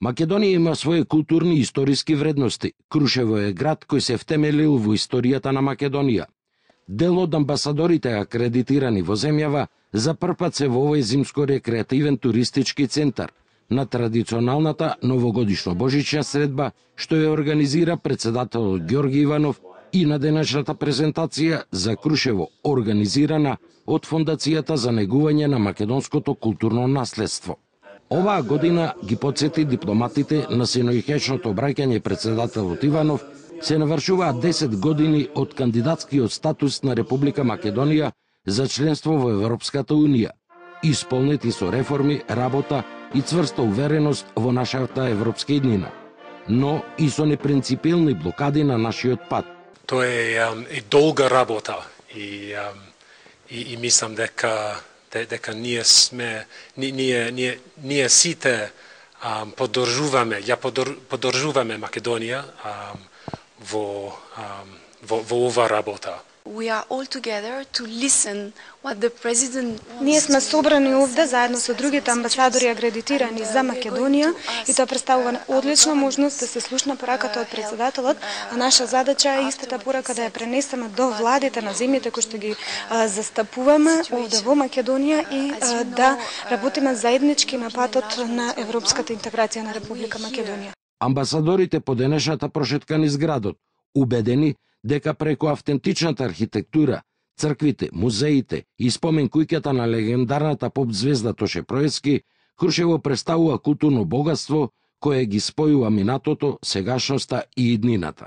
Македонија има своје културни и историски вредности. Крушево е град кој се втемелил во историјата на Македонија. Дел од амбасадорите акредитирани во земјава за првпат се во овој зимско-рекреативен туристички центар на традиционалната новогодишно-божична средба што ја организира председателот Ѓорги Иванов и на денешната презентација за Крушево организирана од Фондацијата за негување на македонското културно наследство. Оваа година ги потсети дипломатите на синојќешното обраќање председателот Иванов се навршуваат 10 години од кандидатскиот статус на Република Македонија за членство во Европската Унија, исполнети со реформи, работа и цврста увереност во нашата европска иднина, но и со непринципилни блокади на нашиот пат. Тоа е долга работа и мислам дека ние сите поддржуваме Македонија во ова работа. Ние сме собрани овде заедно со другите амбасадори акредитирани за Македонија и тоа представува одлична можност да се слушна пораката од председателот, а наша задача е истата порака да ја пренесеме до владите на земјите кои што ги застапуваме овде во Македонија и да работиме заеднички на патот на европската интеграција на Република Македонија. Амбасадорите по денешната прошетка низ градот, убедени дека преку автентичната архитектура, црквите, музеите и спомен куќата на легендарната поп звезда Тоше Проецки, Крушево представува културно богатство кое ги спојува минатото, сегашноста и иднината.